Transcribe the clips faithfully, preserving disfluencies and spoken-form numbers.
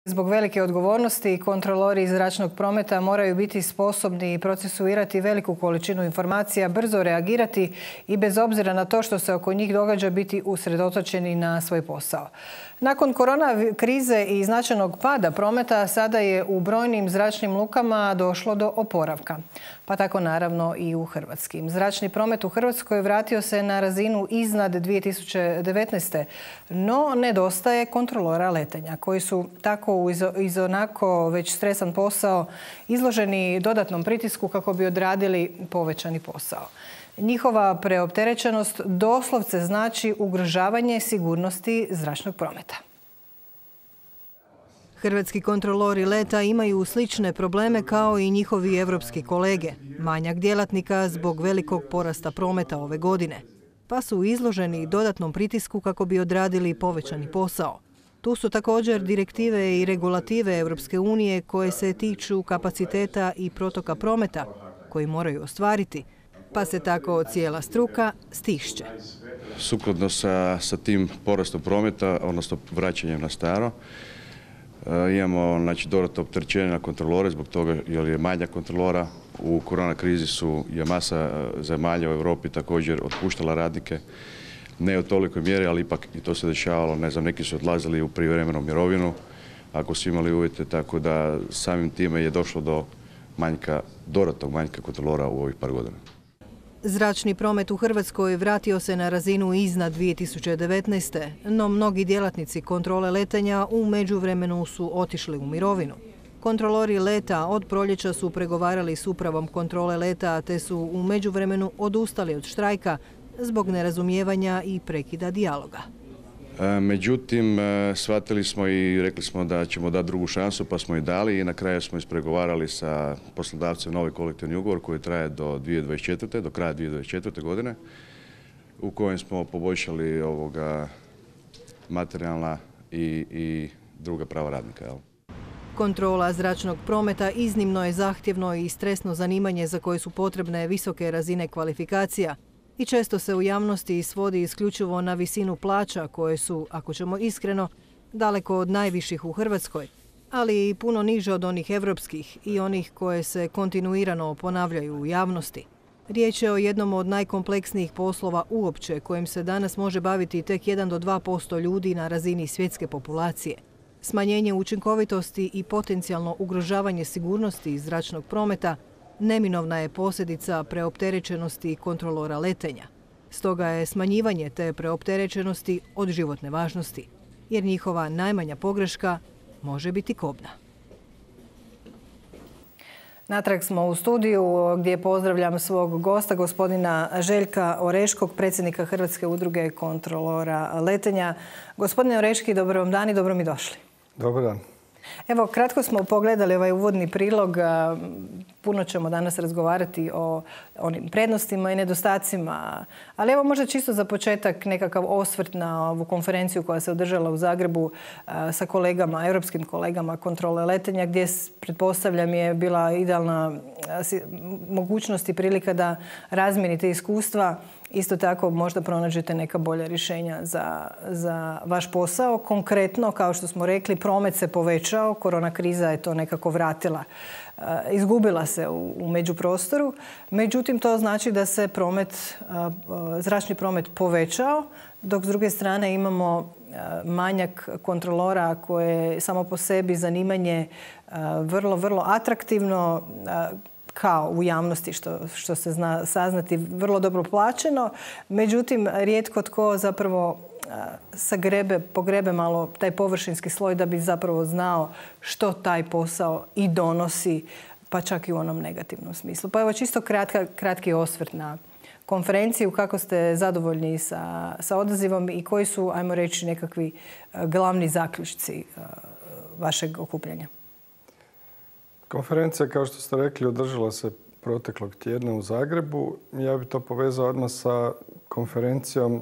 Zbog velike odgovornosti kontrolori zračnog prometa moraju biti sposobni procesuirati veliku količinu informacija, brzo reagirati i bez obzira na to što se oko njih događa biti usredotočeni na svoj posao. Nakon korona krize i značajnog pada prometa sada je u brojnim zračnim lukama došlo do oporavka. Pa tako naravno i u hrvatskim. Zračni promet u Hrvatskoj vratio se na razinu iznad dvije tisuće devetnaeste. No nedostaje kontrolora letenja koji su tako uz onako već stresan posao izloženi dodatnom pritisku kako bi odradili povećani posao. Njihova preopterećenost doslovce znači ugrožavanje sigurnosti zračnog prometa. Hrvatski kontrolori leta imaju slične probleme kao i njihovi evropski kolege. Manjak djelatnika zbog velikog porasta prometa ove godine. Pa su izloženi dodatnom pritisku kako bi odradili povećani posao. Tu su također direktive i regulative Europske unije koje se tiču kapaciteta i protoka prometa koji moraju ostvariti, pa se tako cijela struka stišće. Sukladno sa, sa tim porastom prometa, odnosno vraćanjem na staro, imamo znači, dodatno opterećenje na kontrolore zbog toga jer je manja kontrolora. U korona krizi su je masa zemalja u Europi također otpuštala radnike. Ne u tolikoj mjeri, ali ipak i to se dešavalo. Ne znam, neki su odlazili u prijevremenu mirovinu ako su imali uvjete, tako da samim time je došlo do manjka, dodatnog manjka kontrolora u ovih par godina. Zračni promet u Hrvatskoj vratio se na razinu iznad dvije tisuće devetnaeste. No mnogi djelatnici kontrole letenja u međuvremenu su otišli u mirovinu. Kontrolori leta od proljeća su pregovarali s upravom kontrole leta te su u međuvremenu odustali od štrajka zbog nerazumijevanja i prekida dijaloga. Međutim, shvatili smo i rekli smo da ćemo dati drugu šansu, pa smo i dali i na kraju smo ispregovarali sa poslodavcem novi kolektivni ugovor koji traje do dvije tisuće dvadeset četvrte. do kraja dvije tisuće dvadeset četvrte. godine, u kojem smo poboljšali ovoga materijalna i, i druga prava radnika. Jel? Kontrola zračnog prometa iznimno je zahtjevno i stresno zanimanje za koje su potrebne visoke razine kvalifikacija. I često se u javnosti svodi isključivo na visinu plaća koje su, ako ćemo iskreno, daleko od najviših u Hrvatskoj, ali i puno niže od onih evropskih i onih koje se kontinuirano ponavljaju u javnosti. Riječ je o jednom od najkompleksnijih poslova uopće kojim se danas može baviti tek jedan do dva posto ljudi na razini svjetske populacije. Smanjenje učinkovitosti i potencijalno ugrožavanje sigurnosti zračnog prometa neminovna je posljedica preopterećenosti kontrolora letenja. Stoga je smanjivanje te preopterećenosti od životne važnosti, jer njihova najmanja pogreška može biti kobna. Natrag smo u studiju gdje pozdravljam svog gosta, gospodina Željka Oreškog, predsjednika Hrvatske udruge kontrolora letenja. Gospodine Oreški, dobro vam dan i dobro mi došli. Dobar dan. Evo, kratko smo pogledali ovaj uvodni prilog. Puno ćemo danas razgovarati o onim prednostima i nedostacima. Ali evo možda čisto za početak nekakav osvrt na ovu konferenciju koja se održala u Zagrebu sa kolegama, europskim kolegama kontrole letenja, gdje pretpostavljam je bila idealna mogućnost i prilika da razmijenite iskustva. Isto tako možda pronađete neka bolja rješenja za, za vaš posao. Konkretno, kao što smo rekli, promet se povećao, korona kriza je to nekako vratila, izgubila se u, u međuprostoru. Međutim, to znači da se promet, zračni promet povećao, dok s druge strane imamo manjak kontrolora koje je samo po sebi zanimanje vrlo, vrlo atraktivno, kao u javnosti što, što se zna saznati, vrlo dobro plaćeno. Međutim, rijetko tko zapravo sagrebe, pogrebe malo taj površinski sloj da bi zapravo znao što taj posao i donosi, pa čak i u onom negativnom smislu. Pa evo čisto kratka, kratki osvrt na konferenciju. Kako ste zadovoljni sa, sa odazivom i koji su, ajmo reći, nekakvi glavni zaključci vašeg okupljanja? Konferencija, kao što ste rekli, održala se proteklog tjedna u Zagrebu. Ja bih to povezao odmah sa konferencijom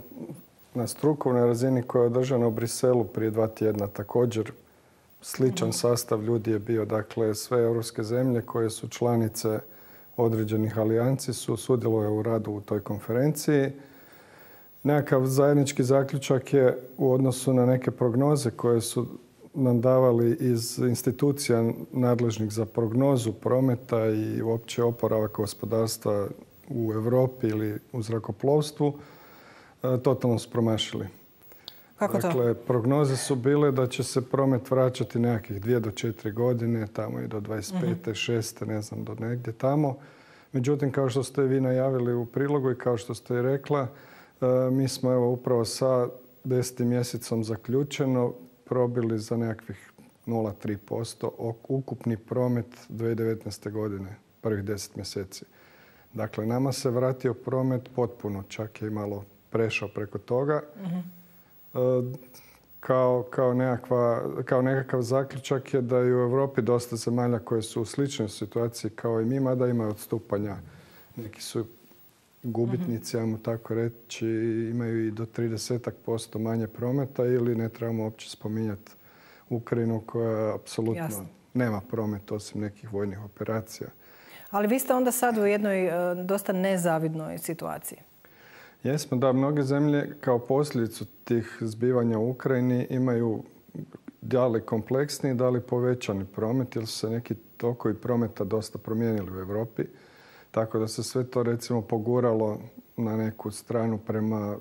na strukovnoj razini koja je održana u Briselu prije dva tjedna. Također sličan sastav ljudi je bio. Dakle, sve europske zemlje koje su članice određenih alijanci su sudjelovale u radu u toj konferenciji. Nekakav zajednički zaključak je u odnosu na neke prognoze koje su nam davali iz institucija nadležnih za prognozu prometa i uopće oporavak gospodarstva u Europi ili u zrakoplovstvu, totalno su promašili. Kako to? Dakle, prognoze su bile da će se promet vraćati nekakvih dvije do četiri godine, tamo i do dvadeset pete, šeste, ne znam, do negdje tamo. Međutim, kao što ste vi najavili u prilogu i kao što ste i rekla, mi smo evo upravo sa desetim mjesecom zaključeno probili za nekakvih nula zarez tri posto ukupni promet dvije tisuće devetnaeste. godine, prvih deset mjeseci. Dakle, nama se vratio promet potpuno, čak je i malo prešao preko toga. Kao, kao, nekakva, kao nekakav zaključak je da je u Europi dosta zemalja koje su u sličnoj situaciji kao i mi, mada ima odstupanja. Neki su gubitnici, ajmo tako reći, imaju i do trideset posto manje prometa ili ne trebamo uopće spominjati Ukrajinu koja apsolutno Jasno. nema promet osim nekih vojnih operacija. Ali vi ste onda sad u jednoj dosta nezavidnoj situaciji. Jesmo, da, mnoge zemlje kao posljedicu tih zbivanja u Ukrajini imaju da li kompleksni, da li povećani promet, jer su se neki tokovi prometa dosta promijenili u Europi. Tako da se sve to recimo poguralo na neku stranu prema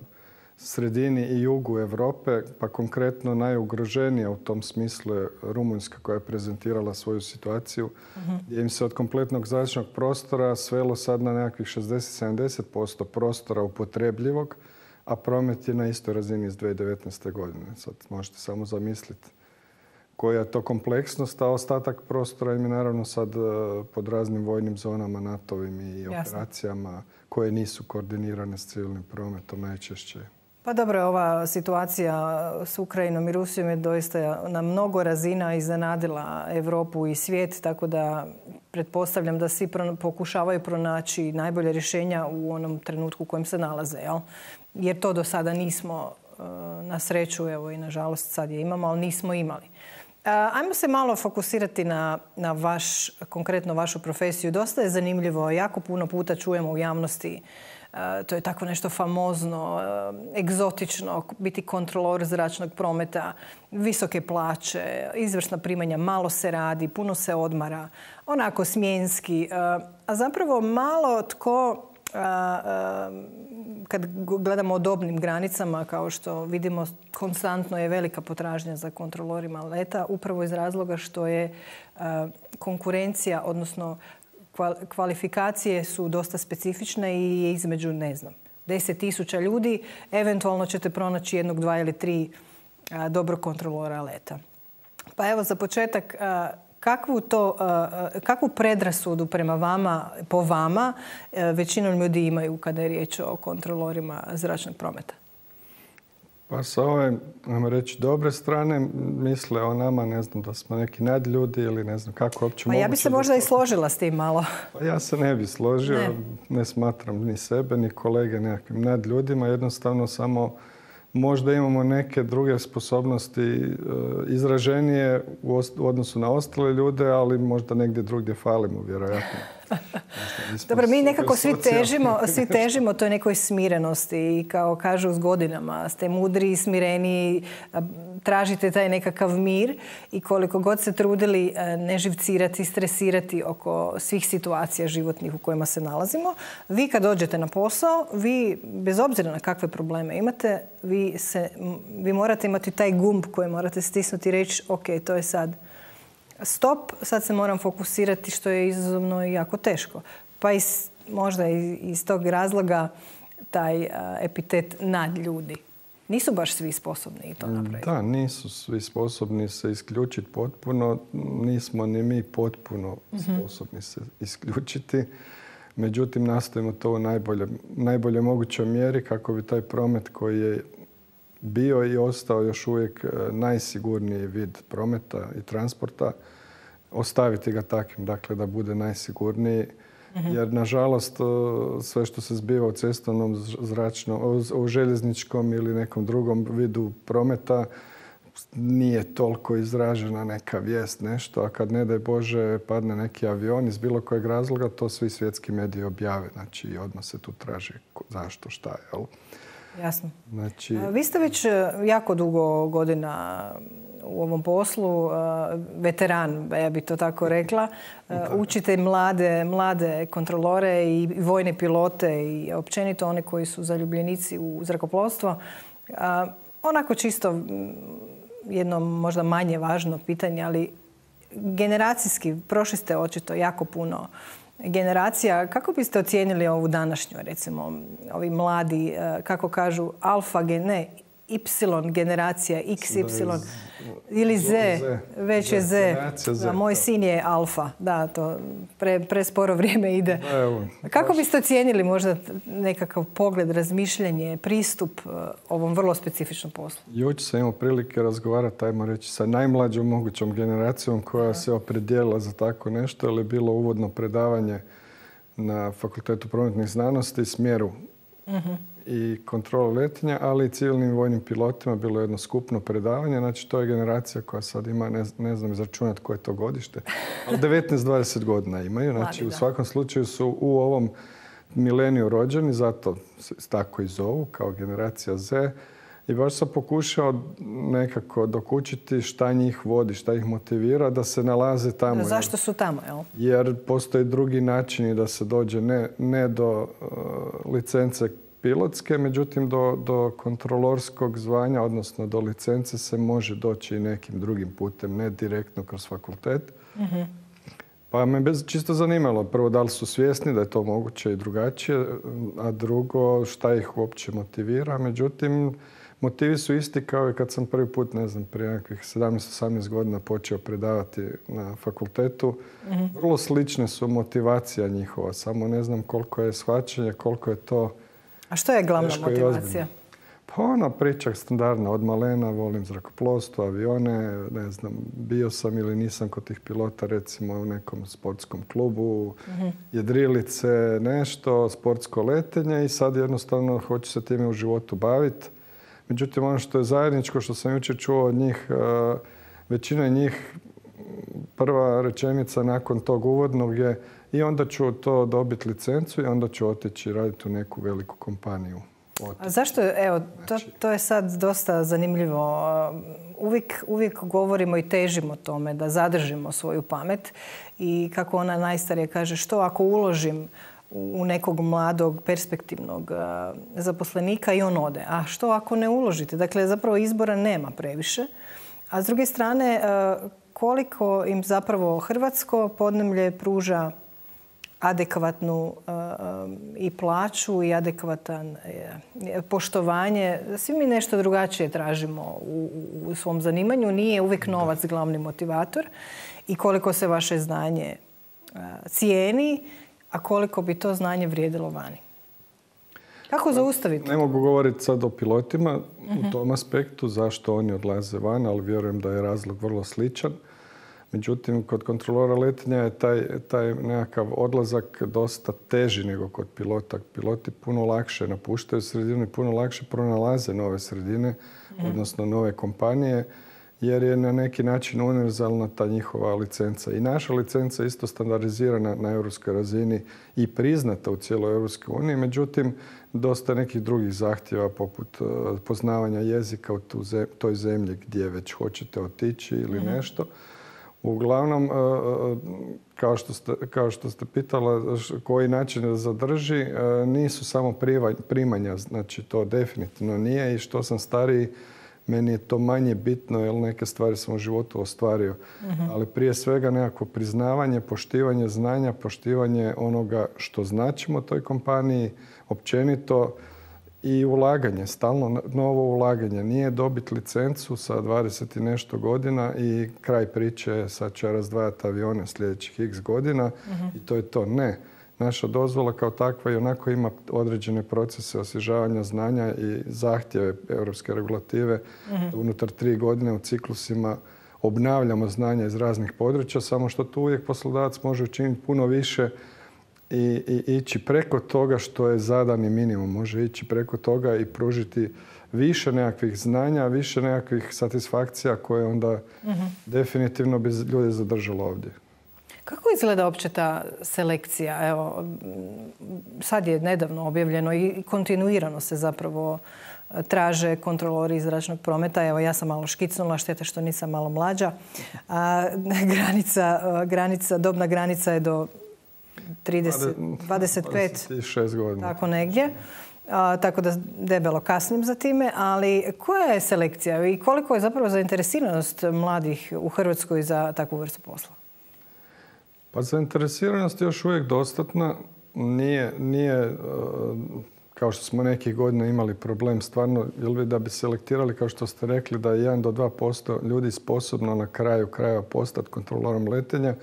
sredini i jugu Europe, pa konkretno najugroženija u tom smislu je Rumunjska koja je prezentirala svoju situaciju, uh-huh. gdje im se od kompletnog zračnog prostora svelo sad na nekakvih šezdeset do sedamdeset posto prostora upotrebljivog, a promet je na istoj razini iz dvije tisuće devetnaeste. godine. Sad možete samo zamisliti koja je to kompleksnost, a ostatak prostora im je naravno sad pod raznim vojnim zonama, NATO-vim i Jasne. operacijama koje nisu koordinirane s civilnim prometom najčešće. Pa dobro, ova situacija s Ukrajinom i Rusijom je doista na mnogo razina iznenadila Europu i svijet, tako da pretpostavljam da svi pokušavaju pronaći najbolje rješenja u onom trenutku u kojem se nalaze. Jel? Jer to do sada nismo, na sreću, evo i nažalost sad je imamo, ali nismo imali. Ajmo se malo fokusirati na, na vaš, konkretno vašu profesiju. Dosta je zanimljivo, jako puno puta čujemo u javnosti, to je tako nešto famozno, egzotično, biti kontrolor zračnog prometa, visoke plaće, izvrsna primanja, malo se radi, puno se odmara, onako smjenski. A zapravo malo tko, kad gledamo o dobnim granicama, kao što vidimo, konstantno je velika potražnja za kontrolorima leta, upravo iz razloga što je konkurencija, odnosno kvalifikacije su dosta specifične i između, ne znam, deset tisuća ljudi, eventualno ćete pronaći jednog, dva ili tri dobrog kontrolora leta. Pa evo za početak, kakvu, to, kakvu predrasudu prema vama, po vama, većinom ljudi imaju kada je riječ o kontrolorima zračnog prometa? Pa sa ove, ajmo reći, dobre strane misle o nama, ne znam, da smo neki nadljudi ili ne znam kako uopće moguće. Pa ja bi se možda i složila s tim malo. Pa ja se ne bi složio. Ne. ne smatram ni sebe, ni kolege nekakvim nadljudima. Jednostavno samo možda imamo neke druge sposobnosti izraženije u odnosu na ostale ljude, ali možda negdje drugdje falimo, vjerojatno. Dobro, mi nekako svi težimo, svi težimo toj nekoj smirenosti i kao kažu s godinama ste mudri, smireni, tražite taj nekakav mir i koliko god se trudili ne živcirati, stresirati oko svih situacija životnih u kojima se nalazimo, vi kad dođete na posao, vi bez obzira na kakve probleme imate, vi, se, vi morate imati taj gumb koji morate stisnuti i reći ok, to je sad stop, sad se moram fokusirati što je izazovno i jako teško. Pa iz, možda iz tog razloga taj epitet nadljudi. Nisu baš svi sposobni i to napraviti. Da, nisu svi sposobni se isključiti potpuno. Nismo ni mi potpuno sposobni se isključiti. Međutim, nastojimo to u najbolje, najbolje mogućoj mjeri kako bi taj promet koji je bio i ostao još uvijek najsigurniji vid prometa i transporta, ostaviti ga takvim, dakle da bude najsigurniji. Mm-hmm. Jer, nažalost, sve što se zbiva u cestovnom, zračnom, u željezničkom ili nekom drugom vidu prometa nije toliko izražena neka vijest, nešto, a kad ne daj Bože padne neki avion iz bilo kojeg razloga, to svi svjetski mediji objave. Znači, odmah se tu traži zašto, šta je, jel? Jasno. Znači... Vi ste već jako dugo godina u ovom poslu, veteran, ja bih to tako rekla. Učite mlade, mlade kontrolore i vojne pilote i općenito one koji su zaljubljenici u zrakoplovstvo. Onako čisto jedno možda manje važno pitanje, ali generacijski prošli ste očito jako puno generacija. Kako biste ocijenili ovu današnju, recimo, ovi mladi, kako kažu, alfa, ne, Y generacija, X Y ili Z, već je Z. Moj sin je alfa. Da, to pre, presporo vrijeme ide. Kako biste ocijenili možda nekakav pogled, razmišljanje, pristup ovom vrlo specifičnom poslu? Jučer sam imao prilike razgovarati, ajmo reći, sa najmlađom mogućom generacijom koja se opredijelila za tako nešto, jer je bilo uvodno predavanje na Fakultetu prometnih znanosti, smjeru uh-huh. i kontrole letenja, ali i civilnim vojnim pilotima bilo jedno skupno predavanje. Znači, to je generacija koja sad ima, ne, ne znam izračunati koje je to godište, ali devetnaest dvadeset godina imaju. Znači, u svakom slučaju su u ovom mileniju rođeni, zato se tako i zovu, kao generacija Z. I baš sam pokušao nekako dokučiti šta njih vodi, šta ih motivira da se nalaze tamo. Zašto su tamo, jel? Jer postoje drugi načini da se dođe ne, ne do uh, licence pilotske, međutim do, do kontrolorskog zvanja, odnosno do licence se može doći i nekim drugim putem, ne direktno kroz fakultet. Uh-huh. Pa me bez čisto zanimalo, prvo da li su svjesni da je to moguće i drugačije, a drugo šta ih uopće motivira. Međutim, motivi su isti kao i kad sam prvi put, ne znam, prije nekakvih sedamnaest osamnaest godina počeo predavati na fakultetu. Mm-hmm. Vrlo slične su motivacija njihova, samo ne znam koliko je shvaćanje, koliko je to. A što je glavna motivacija? Pa ona priča standardna, od malena, volim zrakoplovstvo, avione, ne znam, bio sam ili nisam kod tih pilota, recimo u nekom sportskom klubu, mm-hmm. jedrilice, nešto, sportsko letenje i sad jednostavno hoću se time u životu baviti. Međutim, ono što je zajedničko, što sam jučer čuo od njih, većina njih, prva rečenica nakon tog uvodnog je i onda ću to dobiti licencu i onda ću otići raditi u neku veliku kompaniju. A zašto? Evo, to, to je sad dosta zanimljivo. Uvijek, uvijek govorimo i težimo tome da zadržimo svoju pamet i kako ona najstarija kaže, što ako uložim u nekog mladog, perspektivnog zaposlenika i on ode. A što ako ne uložite? Dakle, zapravo izbora nema previše. A s druge strane, koliko im zapravo hrvatsko podneblje pruža adekvatnu i plaću i adekvatan poštovanje. Svi mi nešto drugačije tražimo u, u svom zanimanju. Nije uvijek novac glavni motivator. I koliko se vaše znanje cijeni, a koliko bi to znanje vrijedilo vani. Kako zaustaviti? Ne mogu govoriti sad o pilotima uh-huh. u tom aspektu, zašto oni odlaze van, ali vjerujem da je razlog vrlo sličan. Međutim, kod kontrolora letenja je taj, taj nekakav odlazak dosta teži nego kod pilota. Piloti puno lakše napuštaju sredinu i puno lakše pronalaze nove sredine, uh-huh. odnosno nove kompanije, jer je na neki način univerzalna ta njihova licenca. I naša licenca je isto standardizirana na europskoj razini i priznata u cijeloj Europskoj uniji. Međutim, dosta nekih drugih zahtjeva poput poznavanja jezika u toj zemlji gdje već hoćete otići ili mm-hmm. nešto. Uglavnom, kao što ste, kao što ste pitala koji način da zadrži, nisu samo primanja, znači to definitivno nije i što sam stariji, meni je to manje bitno jer neke stvari sam u životu ostvario. Uh-huh. Ali prije svega nekako priznavanje, poštivanje znanja, poštivanje onoga što značimo toj kompaniji, općenito i ulaganje, stalno novo ulaganje. Nije dobiti licencu sa dvadeset i nešto godina i kraj priče, sad ću ja razdvajati avione sljedećih x godina uh-huh. i to je to. Ne. Naša dozvola kao takva i onako ima određene procese osvježavanja znanja i zahtjeve europske regulative. Mm-hmm. Unutar tri godine u ciklusima obnavljamo znanja iz raznih područja, samo što tu uvijek poslodavac može učiniti puno više i, i ići preko toga što je zadani minimum. Može ići preko toga i pružiti više nekakvih znanja, više nekakvih satisfakcija koje onda mm-hmm. definitivno bi ljude zadržalo ovdje. Kako izgleda uopće ta selekcija? Evo, sad je nedavno objavljeno i kontinuirano se zapravo traže kontrolori zračnog prometa. Evo, ja sam malo škicnula, šteta što nisam malo mlađa. A, granica, granica, dobna granica je do trideset, dvadeset pet, dvadeset šest godina. Tako negdje. A, tako da debelo kasnim za time. Ali koja je selekcija i koliko je zapravo zainteresiranost mladih u Hrvatskoj za takvu vrstu posla? Pa zainteresiranost je još uvijek dostatna. Nije, nije kao što smo nekih godina imali problem stvarno, jel bi da bi selektirali, kao što ste rekli, da je jedan do dva posto ljudi sposobno na kraju krajeva postati kontrolorom letenja,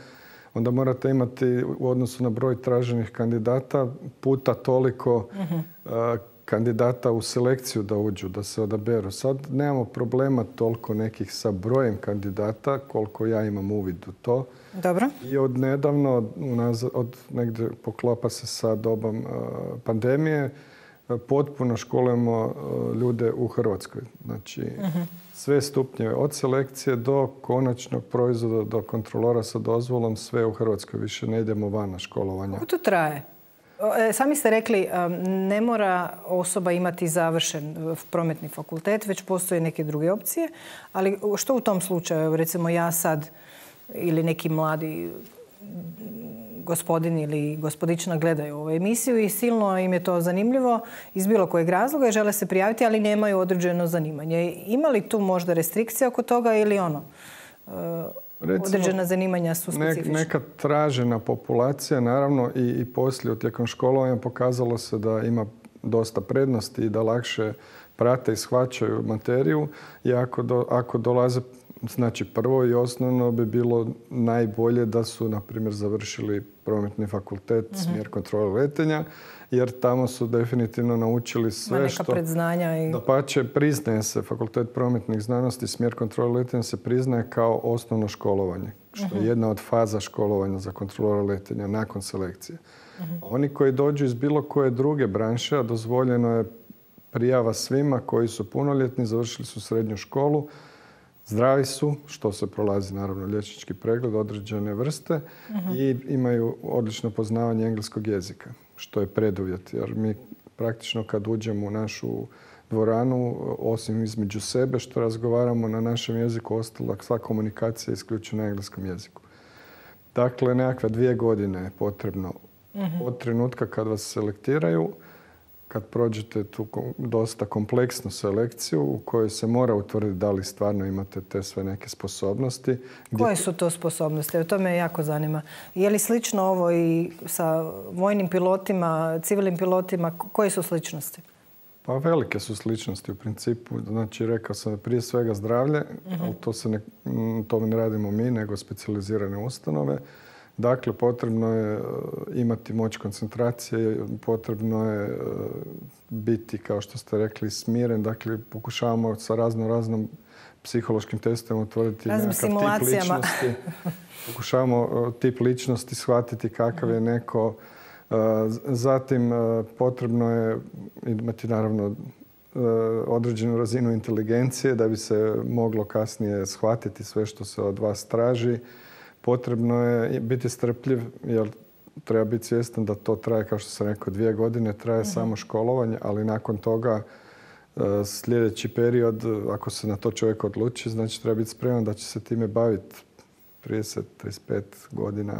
onda morate imati u odnosu na broj traženih kandidata puta toliko uh-huh. kandidata u selekciju da uđu, da se odaberu. Sad nemamo problema toliko nekih sa brojem kandidata, koliko ja imam uvid u to. Dobro. I od nedavno, od negdje poklapa se sa dobom uh, pandemije, uh, potpuno školujemo uh, ljude u Hrvatskoj. Znači, uh-huh. sve stupnjeve, od selekcije do konačnog proizvoda, do kontrolora sa dozvolom, sve u Hrvatskoj. Više ne idemo van na školovanja. Kako to traje? Sami ste rekli, ne mora osoba imati završen prometni fakultet, već postoje neke druge opcije. Ali što u tom slučaju? Recimo ja sad ili neki mladi gospodin ili gospodična gledaju ovu emisiju i silno im je to zanimljivo iz bilo kojeg razloga i žele se prijaviti, ali nemaju određeno zanimanje. Ima li tu možda restrikcija oko toga ili ono? Recimo, određena zanimanja su specifična? Neka tražena populacija, naravno, i, i poslije tijekom školovanja pokazalo se da ima dosta prednosti i da lakše prate i shvaćaju materiju. I ako, do, ako dolaze, znači prvo i osnovno bi bilo najbolje da su, na primjer, završili prometni fakultet, mm-hmm. smjer kontrole letenja, jer tamo su definitivno naučili sve neka što... predznanja i... Dapače, priznaje se fakultet prometnih znanosti, smjer kontrole letenja se priznaje kao osnovno školovanje, što uh-huh. je jedna od faza školovanja za kontrolora letenja nakon selekcije. Uh-huh. Oni koji dođu iz bilo koje druge branše, a dozvoljeno je prijava svima koji su punoljetni, završili su srednju školu, zdravi su, što se prolazi naravno liječnički pregled određene vrste uh-huh. i imaju odlično poznavanje engleskog jezika, što je preduvjet. Jer mi praktično kad uđemo u našu dvoranu, osim između sebe što razgovaramo na našem jeziku, ostala sva komunikacija je isključena na engleskom jeziku. Dakle, nekakve dvije godine je potrebno uh-huh. od trenutka kad vas selektiraju, kad prođete tu dosta kompleksnu selekciju u kojoj se mora utvrditi da li stvarno imate te sve neke sposobnosti. Koje su to sposobnosti? To me jako zanima. Je li slično ovo i sa vojnim pilotima, civilnim pilotima? Koje su sličnosti? Pa velike su sličnosti u principu. Znači, rekao sam prije svega zdravlje, uh-huh. ali to, se ne, to ne radimo mi, nego specijalizirane ustanove. Dakle, potrebno je imati moć koncentracije, potrebno je biti, kao što ste rekli, smiren. Dakle, pokušavamo sa razno raznom psihološkim testovima utvrditi nekakav tip ličnosti. Pokušavamo tip ličnosti shvatiti kakav je neko. Zatim, potrebno je imati, naravno, određenu razinu inteligencije da bi se moglo kasnije shvatiti sve što se od vas traži. Potrebno je biti strpljiv, jer treba biti svjestan da to traje, kao što sam rekao, dvije godine, traje uh-huh. samo školovanje, ali nakon toga sljedeći period, ako se na to čovjek odluči, znači treba biti spreman da će se time baviti trideset do trideset pet godina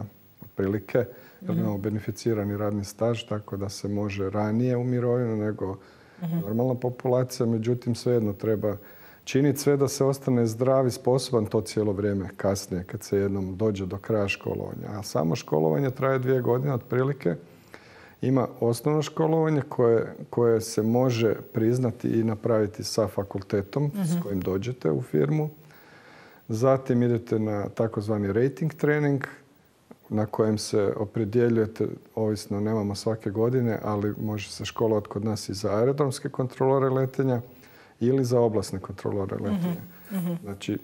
otprilike, jer uh-huh. imamo beneficirani radni staž, tako da se može ranije u mirovinu nego uh-huh. normalna populacija, međutim svejedno treba činiti sve da se ostane zdrav i sposoban to cijelo vrijeme kasnije kad se jednom dođe do kraja školovanja. A samo školovanje traje dvije godine otprilike. Ima osnovno školovanje koje, koje se može priznati i napraviti sa fakultetom uh-huh. s kojim dođete u firmu. Zatim idete na takozvani rating trening na kojem se opredjeljujete, ovisno nemamo svake godine, ali može se školovati kod nas i za aerodromske kontrolore letenja ili za oblasne kontrolore letenja. Uh-huh. Znači,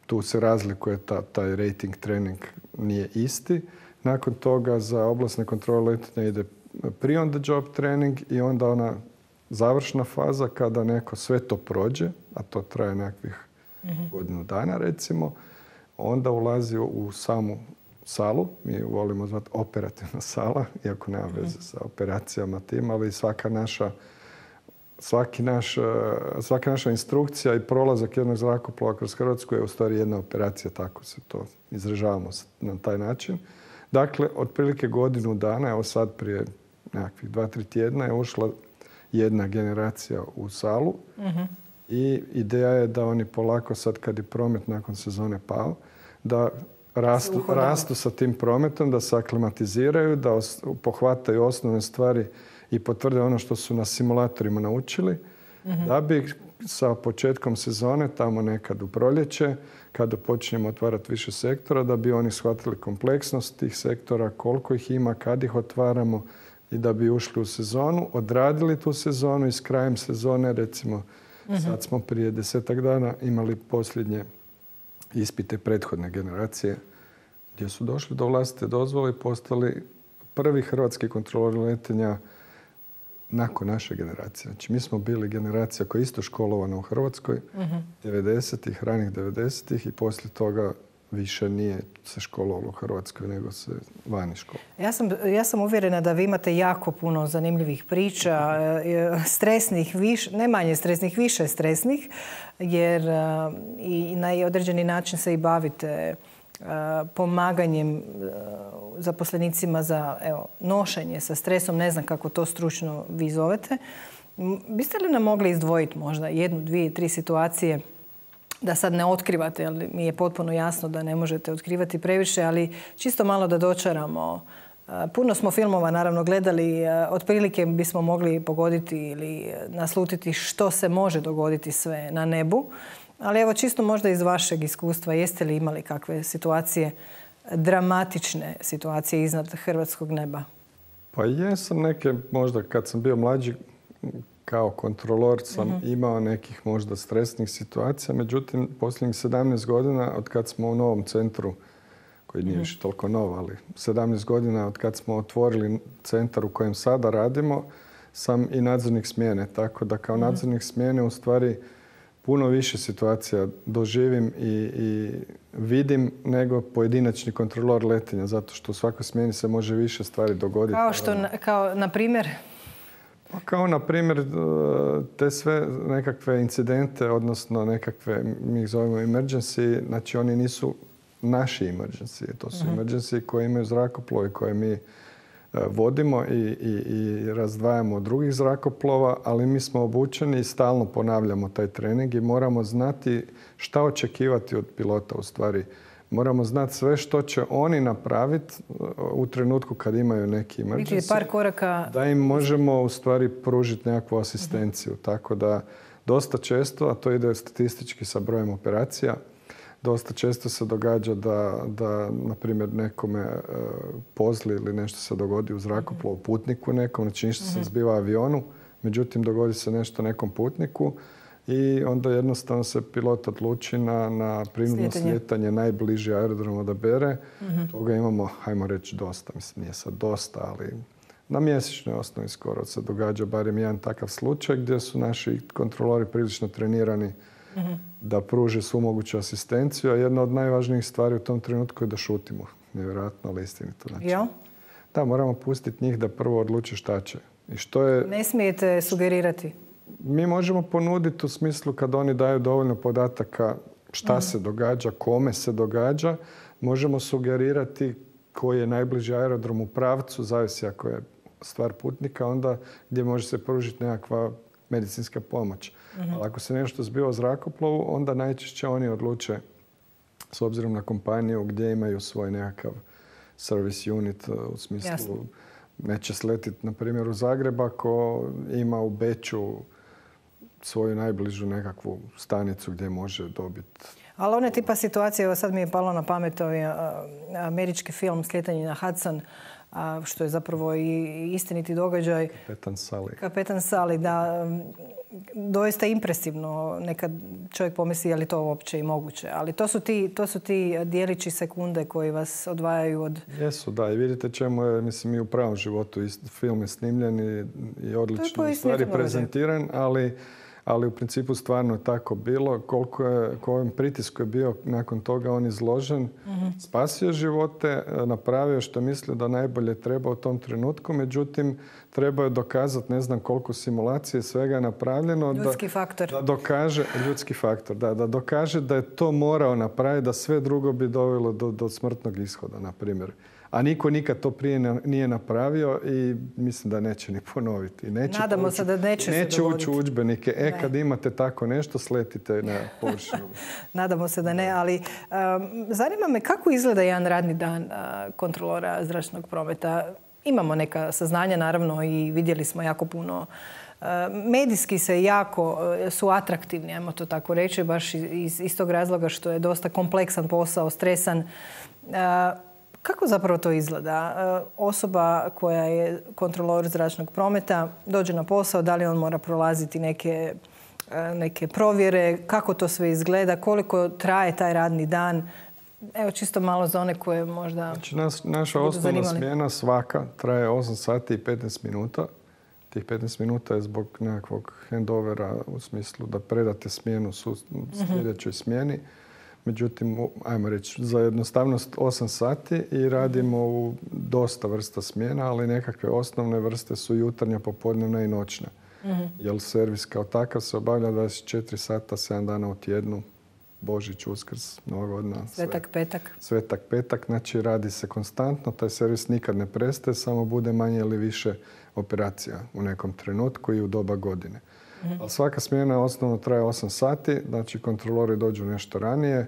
tu se razlikuje ta, taj rating trening nije isti. Nakon toga za oblasne kontrole letenja ide pre-on the job trening i onda ona završna faza kada neko sve to prođe, a to traje nekakvih uh-huh. godinu dana recimo, onda ulazi u samu salu. Mi volimo zvati operativna sala, iako nema veze uh-huh. sa operacijama tim, ali svaka naša svaki naš, svaka naša instrukcija i prolazak jednog zrakoplova kroz Hrvatsku je u stvari jedna operacija, tako se to izražavamo na taj način. Dakle, otprilike godinu dana, evo sad prije nekakvih dva, tri tjedna je ušla jedna generacija u salu uh-huh. i ideja je da oni polako sad kad je promet nakon sezone pao, da rastu, rastu sa tim prometom, da se aklimatiziraju, da os, pohvataju osnovne stvari i potvrde ono što su na simulatorima naučili, uh-huh. da bi sa početkom sezone, tamo nekad u proljeće, kada počinjemo otvarati više sektora, da bi oni shvatili kompleksnost tih sektora, koliko ih ima, kad ih otvaramo i da bi ušli u sezonu, odradili tu sezonu i s krajem sezone, recimo, uh-huh. sad smo prije desetak dana imali posljednje ispite prethodne generacije gdje su došli do vlastite dozvole i postali prvi hrvatski kontrolori letenja nakon naše generacije. Znači, mi smo bili generacija koja je isto školovana u Hrvatskoj, uh-huh. devedesetih, ranih devedesetih i poslije toga više nije se školovalo u Hrvatskoj, nego se vani školovalo. Ja sam, ja sam uvjerena da vi imate jako puno zanimljivih priča, stresnih, viš, ne manje stresnih, više stresnih, jer i na određeni način se i bavite pomaganjem zaposlenicima za evo, nošenje sa stresom. Ne znam kako to stručno vi zovete. Biste li nam mogli izdvojiti možda jednu, dvije, tri situacije da sad ne otkrivate, jer mi je potpuno jasno da ne možete otkrivati previše, ali čisto malo da dočaramo. Puno smo filmova naravno gledali, otprilike bismo mogli pogoditi ili naslutiti što se može dogoditi sve na nebu. Ali evo čisto možda iz vašeg iskustva, jeste li imali kakve situacije, dramatične situacije iznad hrvatskog neba? Pa jesam neke, možda kad sam bio mlađi, kao kontrolor sam uh-huh. imao nekih možda stresnih situacija. Međutim, posljednjih sedamnaest godina od kad smo u novom centru, koji nije uh-huh. više toliko nov, ali sedamnaest godina od kad smo otvorili centar u kojem sada radimo, sam i nadzornik smjene. Tako da kao uh-huh. nadzornik smjene u stvari puno više situacija doživim i, i vidim nego pojedinačni kontrolor letenja, zato što u svakoj smjeni se može više stvari dogoditi. Kao što, kao na primjer? Kao na primjer te sve nekakve incidente, odnosno nekakve, mi ih zovemo emergency, znači oni nisu naši emergency, to su uh-huh. emergency koje imaju zrakoplovi koje mi vodimo i, i, i razdvajamo od drugih zrakoplova, ali mi smo obučeni i stalno ponavljamo taj trening i moramo znati šta očekivati od pilota u stvari. Moramo znati sve što će oni napraviti u trenutku kad imaju neki emergency. Par koraka... Da im možemo u stvari pružiti nekakvu asistenciju. Uh-huh. Tako da dosta često, a to ide statistički sa brojem operacija, dosta često se događa da, da na primjer, nekome uh, pozli ili nešto se dogodi u zrakoplovu, uh-huh. putniku nekom, znači ništa uh-huh. se zbiva avionu, međutim dogodi se nešto nekom putniku i onda jednostavno se pilot odluči na, na prinuđeno slijetanje najbliži aerodrom odabere. Uh-huh. Toga imamo, hajmo reći, dosta. Mislim, nije sad dosta, ali na mjesečnoj osnovi skoro se događa barem jedan takav slučaj gdje su naši kontrolori prilično trenirani uh-huh. da pruže svu moguću asistenciju, a jedna od najvažnijih stvari u tom trenutku je da šutimo. Nevjerojatno, ali istinito. Znači, ja? Da, moramo pustiti njih da prvo odluče šta će. I što je... Ne smijete sugerirati? Mi možemo ponuditi u smislu kad oni daju dovoljno podataka šta uh-huh. se događa, kome se događa. Možemo sugerirati koji je najbliži aerodrom u pravcu, zavisi ako je stvar putnika, onda gdje može se pružiti nekakva medicinska pomoć. Uh-huh. Ali ako se nešto zbiva u zrakoplovu, onda najčešće oni odluče, s obzirom na kompaniju, gdje imaju svoj nekakav service unit, u smislu Jasne. Neće sletiti, na primjer, u Zagreb ako ima u Beču svoju najbližu nekakvu stanicu gdje može dobiti. Ali one tipa situacije, evo sad mi je palo na pamet ovaj američki film Slijetanje na Hudson, što je zapravo i istiniti događaj. Kapetan Sally. Kapetan Sally, da. Doista impresivno. Nekad čovjek pomisli je li to uopće i moguće. Ali to su ti, to su ti dijelići sekunde koji vas odvajaju od... Jesu, da. I vidite čemu je, mislim, i u pravom životu film je snimljen i, i odlično u stvari prezentiran, ali ali u principu stvarno je tako bilo. Koliko je, kojem pritisku je bio nakon toga on izložen, mm-hmm. spasio živote, napravio što je mislio da najbolje treba u tom trenutku, međutim trebao je dokazati ne znam koliko simulacije svega je napravljeno. Ljudski da, faktor. Da dokaže, ljudski faktor, da, da dokaže da je to morao napraviti, da sve drugo bi dovelo do, do smrtnog ishoda, na primjer. A niko nikad to prije nije napravio i mislim da neće ni ponoviti. Neće Nadamo ući, se da neće, neće se ući u udžbenike. E, ne. kad imate tako nešto, sletite na površinu. Nadamo se da ne, ali um, zanima me kako izgleda jedan radni dan uh, kontrolora zračnog prometa. Imamo neka saznanja, naravno, i vidjeli smo jako puno. Uh, medijski se jako uh, su atraktivni, ajmo to tako reći, baš iz, iz tog razloga što je dosta kompleksan posao, stresan. Uh, Kako zapravo to izgleda? Osoba koja je kontrolor zračnog prometa dođe na posao, da li on mora prolaziti neke, neke provjere, kako to sve izgleda, koliko traje taj radni dan? Evo čisto malo za one koje možda znači, nas, naša osnovna smjena svaka traje osam sati i petnaest minuta. Tih petnaest minuta je zbog nekakvog handovera u smislu da predate smjenu su sljedećoj smjeni. Međutim, ajmo reći, za jednostavnost osam sati i radimo u dosta vrsta smjena, ali nekakve osnovne vrste su jutarnja, popodnevna i noćna. Mm-hmm. Jer servis kao takav se obavlja dvadeset četiri sata, sedam dana u tjednu, Božić, Uskrs, Nova godina. Svetak petak. Svetak petak, znači radi se konstantno, taj servis nikad ne prestaje, samo bude manje ili više operacija u nekom trenutku i u doba godine. Mm-hmm. Ali svaka smjena osnovno traje osam sati, znači kontrolori dođu nešto ranije,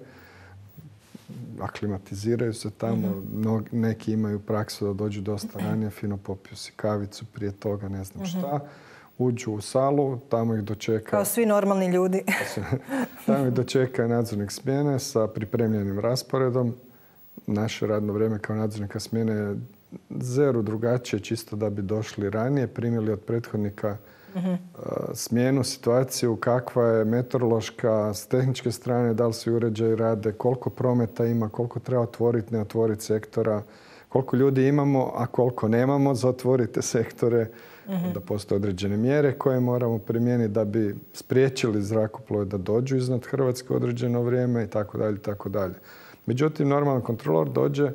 aklimatiziraju se tamo, mm-hmm. neki imaju praksu da dođu dosta ranije, fino popiju si kavicu prije toga, ne znam mm-hmm. šta. Uđu u salu, tamo ih dočeka... Kao svi normalni ljudi. Tamo ih dočeka nadzornik smjene sa pripremljenim rasporedom. Naše radno vrijeme kao nadzornika smjene je zero drugačije, čisto da bi došli ranije, primili od prethodnika mm-hmm. smjenu, situaciju, kakva je meteorološka, s tehničke strane, da li svi uređaji rade, koliko prometa ima, koliko treba otvoriti, ne otvoriti sektora, koliko ljudi imamo, a koliko nemamo za otvorite sektore, mm-hmm. da postoje određene mjere koje moramo primijeniti da bi spriječili zrakoplove da dođu iznad Hrvatske određeno vrijeme i tako dalje, tako dalje. Međutim, normalan kontrolor dođe,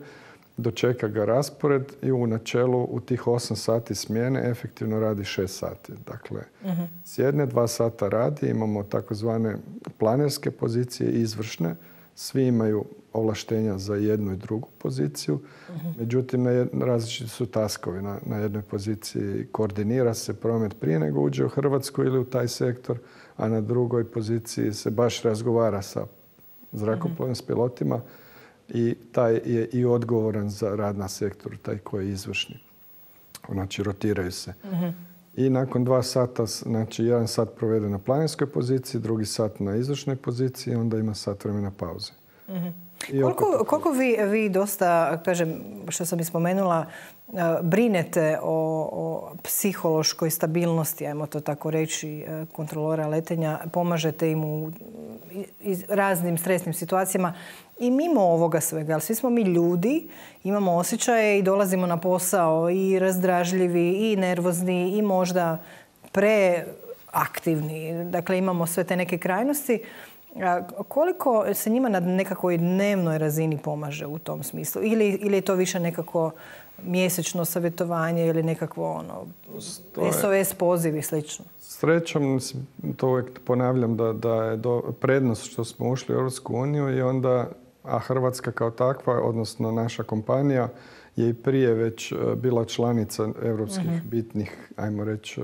dočeka ga raspored i u načelu u tih osam sati smjene efektivno radi šest sati. Dakle, mm-hmm. s jedne dva sata radi, imamo takozvane planerske pozicije i izvršne. Svi imaju ovlaštenja za jednu i drugu poziciju. Mm-hmm. Međutim, na jed... različiti su taskovi. Na, na jednoj poziciji koordinira se promet prije nego uđe u Hrvatsku ili u taj sektor, a na drugoj poziciji se baš razgovara sa zrakoplovnim mm-hmm. s pilotima i taj je i odgovoran za rad na sektoru, taj koji je izvršni. Znači, rotiraju se. Mm-hmm. I nakon dva sata, znači jedan sat provede na planinskoj poziciji, drugi sat na izvršnoj poziciji, onda ima sat vremena pauze. Mm-hmm. Koliko, koliko vi, vi dosta, kažem, što sam i spomenula, brinete o, o psihološkoj stabilnosti, ajmo to tako reći, kontrolora letenja, pomažete im u raznim stresnim situacijama i mimo ovoga svega, ali svi smo mi ljudi, imamo osjećaje i dolazimo na posao i razdražljivi i nervozni i možda preaktivni. Dakle, imamo sve te neke krajnosti. Koliko se njima na nekakvoj dnevnoj razini pomaže u tom smislu? Ili, ili je to više nekako mjesečno savjetovanje ili nekakvo ono, je... S O S poziv i slično? Srećom, to uvijek ponavljam da, da je do, prednost što smo ušli u Europsku uniju i onda, a Hrvatska kao takva, odnosno naša kompanija, je i prije već bila članica europskih mm-hmm. bitnih, ajmo reći,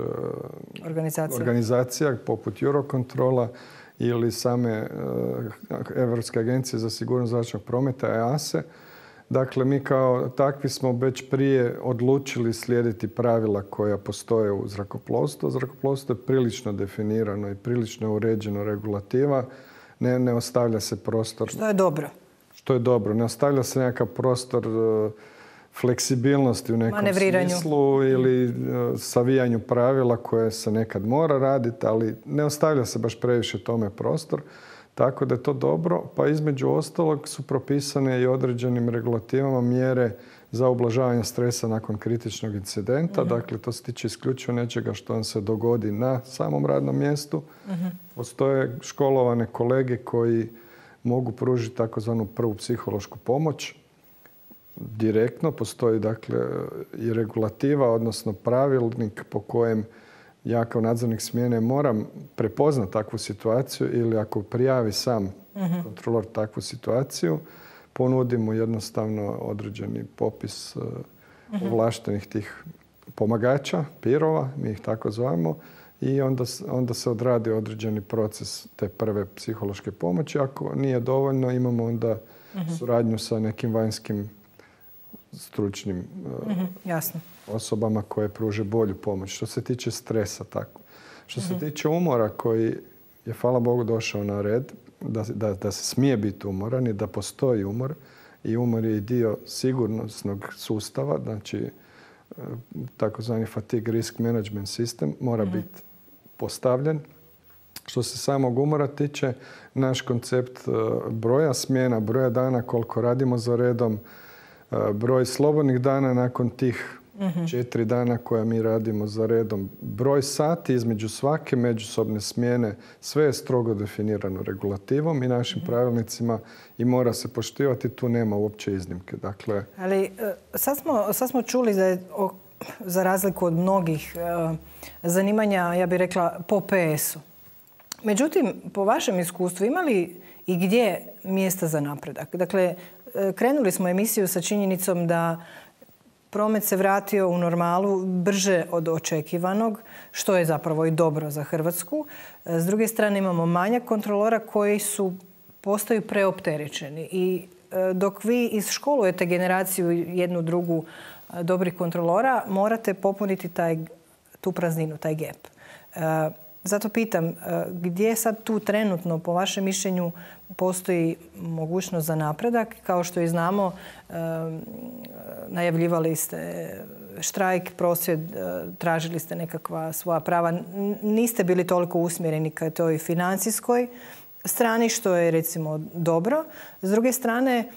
organizacija. organizacija poput Eurocontrola ili same Europske agencije za sigurnost zračnog prometa, E A S E. Dakle, mi kao takvi smo već prije odlučili slijediti pravila koja postoje u zrakoplovstvu. Zrakoplovstvo je prilično definirano i prilično uređeno regulativa. Ne, ne ostavlja se prostor... Što je dobro. Što je dobro. Ne ostavlja se nekakav prostor uh, fleksibilnosti u nekom smislu ili uh, savijanju pravila koje se nekad mora raditi, ali ne ostavlja se baš previše tome prostor. Tako da je to dobro, pa između ostalog su propisane i određenim regulativama mjere za ublažavanje stresa nakon kritičnog incidenta. Uh-huh. Dakle, to se tiče isključivo nečega što vam se dogodi na samom radnom mjestu. Uh-huh. Postoje školovane kolege koji mogu pružiti takozvanu prvu psihološku pomoć. Direktno postoji dakle i regulativa, odnosno pravilnik po kojem ja kao nadzornik smjene moram prepoznati takvu situaciju ili ako prijavi sam uh-huh. kontrolor takvu situaciju, ponudimo jednostavno određeni popis uh-huh. ovlaštenih tih pomagača, pirova, mi ih tako zovemo, i onda, onda se odradi određeni proces te prve psihološke pomoći. Ako nije dovoljno, imamo onda uh-huh. suradnju sa nekim vanjskim stručnim uh-huh. Jasno. osobama koje pruže bolju pomoć. Što se tiče stresa, tako. Što uh-huh. se tiče umora koji je, hvala Bogu, došao na red, da, da, da se smije biti umoran i da postoji umor. I umor je i dio sigurnosnog sustava, znači takozvani fatigue risk management system mora uh-huh. biti postavljen. Što se samog umora tiče, naš koncept broja smjena, broja dana koliko radimo za redom, broj slobodnih dana nakon tih uh-huh. četiri dana koja mi radimo za redom, broj sati između svake međusobne smjene, sve je strogo definirano regulativom i našim uh-huh. pravilnicima i mora se poštivati, tu nema uopće iznimke. Dakle, ali sad smo, sad smo čuli da je, za razliku od mnogih zanimanja, ja bih rekla, po P S-u. Međutim, po vašem iskustvu, ima li i gdje mjesta za napredak? Dakle, krenuli smo emisiju sa činjenicom da promet se vratio u normalu brže od očekivanog, što je zapravo i dobro za Hrvatsku. S druge strane imamo manjak kontrolora koji su postaju preopterećeni. I dok vi izškolujete generaciju jednu drugu dobrih kontrolora, morate popuniti taj, tu prazninu, taj gap. Zato pitam, gdje sad tu trenutno, po vašem mišljenju, postoji mogućnost za napredak? Kao što i znamo, najavljivali ste štrajk, prosvjed, tražili ste nekakva svoja prava. Niste bili toliko usmjereni ka toj financijskoj strani, što je recimo dobro. S druge strane,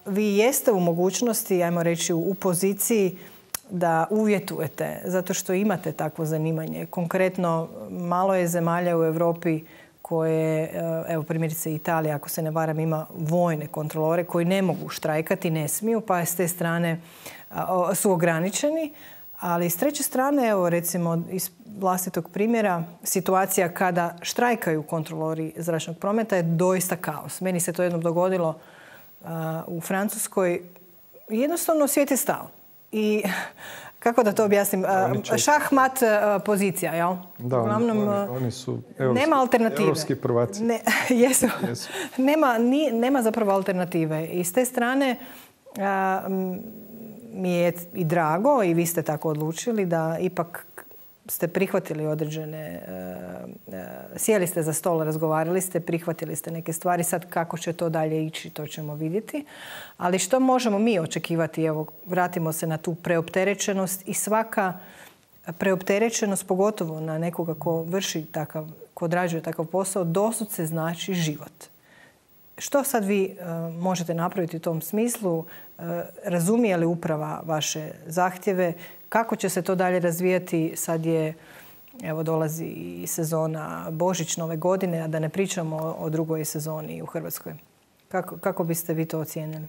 vi jeste u mogućnosti, ajmo reći, u poziciji da uvjetujete, zato što imate takvo zanimanje. Konkretno, malo je zemalja u Europi koje, evo primjerice Italija, ako se ne varam, ima vojne kontrolore koji ne mogu štrajkati, ne smiju, pa s te strane su ograničeni. Ali s treće strane, evo recimo iz vlastitog primjera, situacija kada štrajkaju kontrolori zračnog prometa je doista kaos. Meni se to jednom dogodilo u Francuskoj. Jednostavno svijet je stao. I kako da to objasnim? Šahmat pozicija, jel? Da, Uglavnom, oni, oni su evropski, nema alternative. Evropski prvaci. Ne, jesu. jesu. Nema, ni, nema zapravo alternative. I s te strane a, mi je i drago, i vi ste tako odlučili, da ipak ste prihvatili određene, uh, uh, sjeli ste za stol, razgovarali ste, prihvatili ste neke stvari. Sad kako će to dalje ići, to ćemo vidjeti. Ali što možemo mi očekivati? Evo, vratimo se na tu preopterećenost i svaka preopterećenost, pogotovo na nekoga ko vrši takav, ko odrađuje takav posao, doslovce znači život. Što sad vi uh, možete napraviti u tom smislu? Uh, razumije li uprava vaše zahtjeve? Kako će se to dalje razvijati? Sad je, evo, dolazi i sezona Božić nove godine, a da ne pričamo o, o drugoj sezoni u Hrvatskoj. Kako, kako biste vi to ocijenili?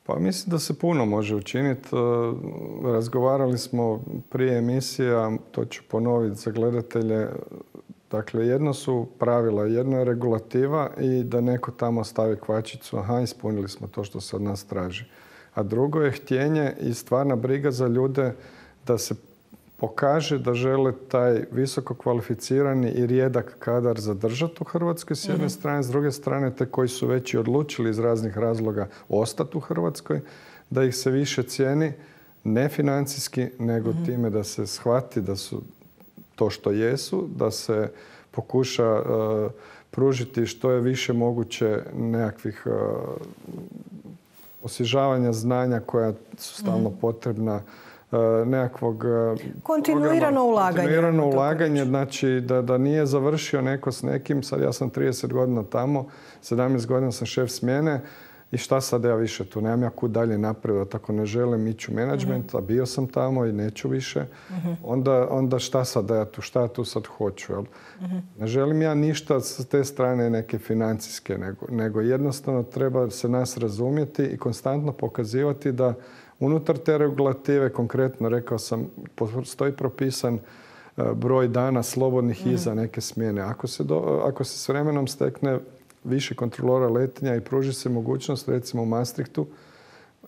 Pa mislim da se puno može učiniti. Razgovarali smo prije emisija, to ću ponoviti za gledatelje. Dakle, jedno su pravila, jedno je regulativa i da neko tamo stavi kvačicu, aha, ispunili smo to što se od nas traži. A drugo je htjenje i stvarna briga za ljude da se pokaže da žele taj visoko kvalificirani i rijedak kadar zadržati u Hrvatskoj s jedne mm-hmm. strane, s druge strane te koji su već i odlučili iz raznih razloga ostati u Hrvatskoj, da ih se više cijeni, ne financijski, nego mm-hmm. time da se shvati da su to što jesu, da se pokuša uh, pružiti što je više moguće nekakvih uh, osvježavanja znanja koja su stalno mm. potrebna, uh, nekakvog uh, kontinuirano programa, ulaganje. Kontinuirano ulaganje, znači da, da nije završio neko s nekim. Sad ja sam trideset godina tamo, sedamnaest godina sam šef smjene i šta sad ja više tu, nemam ja kud dalje napredovati, ako ne želim ići u menadžment, a bio sam tamo i neću više, onda, onda šta sad ja tu, šta ja tu sad hoću. Jel? Ne želim ja ništa s te strane neke financijske, nego, nego jednostavno treba se nas razumjeti i konstantno pokazivati da unutar te regulative, konkretno rekao sam, postoji propisan broj dana slobodnih iza neke smjene. Ako se, do, ako se s vremenom stekne više kontrolora letenja i pruži se mogućnost, recimo u Maastrichtu,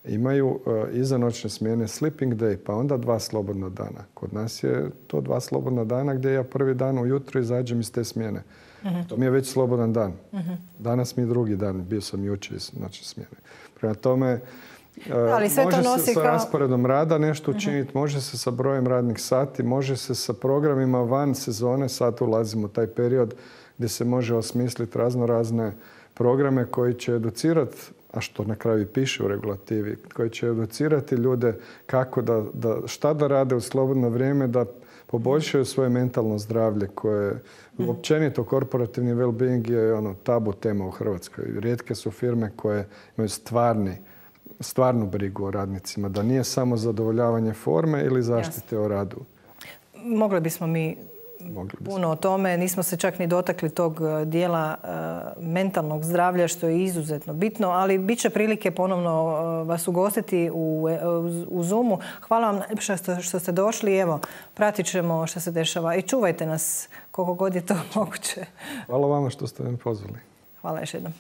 imaju uh, izanoćne smjene sleeping day, pa onda dva slobodna dana. Kod nas je to dva slobodna dana gdje ja prvi dan ujutro izađem iz te smjene. Uh-huh. To mi je već slobodan dan. Uh-huh. Danas mi je drugi dan, bio sam jučer iz noćne smjene. Prema tome, Ali sve može to nosi se sa kao... rasporedom rada nešto učiniti, uh-huh. može se sa brojem radnih sati, može se sa programima van sezone, sad ulazimo u taj period gdje se može osmisliti razno razne programe koji će educirati, a što na kraju i piše u regulativi, koji će educirati ljude kako da, da, šta da rade u slobodno vrijeme, da poboljšaju svoje mentalno zdravlje koje mm. općenito korporativni well-being je ono tabu tema u Hrvatskoj. Rijetke su firme koje imaju stvarni, stvarnu brigu o radnicima, da nije samo zadovoljavanje forme ili zaštite o radu. Mogli bismo mi puno o tome. Nismo se čak ni dotakli tog dijela uh, mentalnog zdravlja, što je izuzetno bitno, ali bit će prilike ponovno uh, vas ugostiti u, u, u Zoomu. Hvala vam što, što ste došli. Evo, pratit ćemo što se dešava i čuvajte nas koliko god je to moguće. Hvala vama što ste me pozvali. Hvala još jednom.